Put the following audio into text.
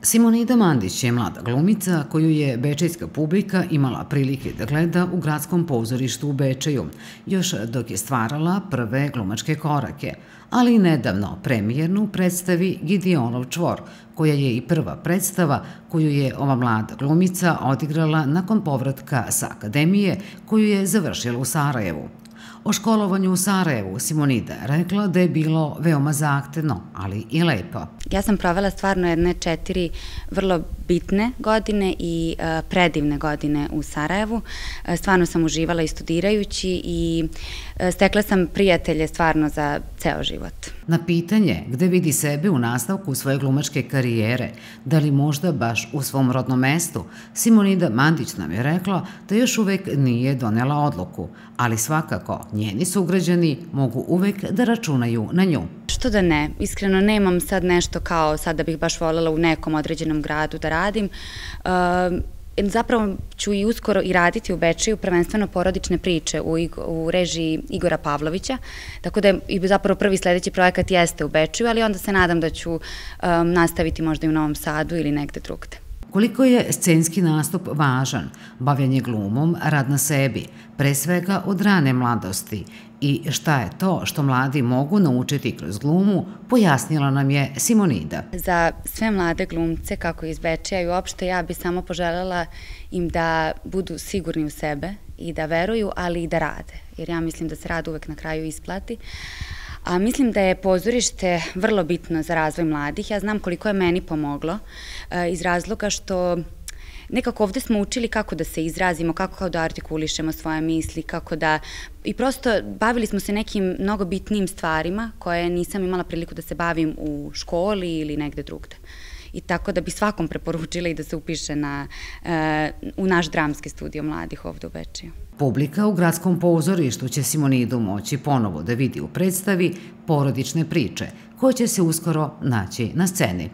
Simonida Mandić je mlada glumica koju je bečejska publika imala prilike da gleda u gradskom pozorištu u Bečeju, još dok je stvarala prve glumačke korake, ali i nedavno premijernu predstavi Gideonov čvor, koja je i prva predstava koju je ova mlada glumica odigrala nakon povratka sa akademije koju je završila u Sarajevu. O školovanju u Sarajevu Simonida je rekla da je bilo veoma zahtevno, ali i lepo. Ja sam provela stvarno jedne 4 vrlo bitne godine i predivne godine u Sarajevu. Stvarno sam uživala i studirajući i stekla sam prijatelje stvarno za ceo život. Na pitanje gde vidi sebe u nastavku svoje glumačke karijere, da li možda baš u svom rodnom mestu, Simonida Mandić nam je rekla da još uvek nije donela odluku, ali svakako njeni sugrađani mogu uvek da računaju na nju. Što da ne, iskreno nemam sad nešto kao sad da bih baš voljela u nekom određenom gradu da radim. Zapravo ću i uskoro i raditi u Bečeju, prvenstveno porodične priče u režiji Igora Pavlovića, tako da i zapravo prvi sledeći projekat jeste u Bečeju, ali onda se nadam da ću nastaviti možda i u Novom Sadu ili negde drugde. Koliko je scenski nastup važan, bavljenje glumom, rad na sebi, pre svega od rane mladosti, i šta je to što mladi mogu naučiti kroz glumu, pojasnila nam je Simonida. Za sve mlade glumce, kako iz Bečeja i uopšte, ja bi samo poželjela im da budu sigurni u sebe i da veruju, ali i da rade, jer ja mislim da se rad uvek na kraju isplati. A mislim da je pozorište vrlo bitno za razvoj mladih. Ja znam koliko je meni pomoglo iz razloga što nekako ovde smo učili kako da se izrazimo, kako da artikulišemo svoje misli, kako da... I prosto bavili smo se nekim mnogo bitnijim stvarima koje nisam imala priliku da se bavim u školi ili negde drugde. I tako da bi svakom preporučila i da se upiše u naš dramski studio mladih ovde u Bečeju. Publika u gradskom pozorištu će Simonidu moći ponovo da vidi u predstavi Porodične priče, koje će se uskoro naći na sceni.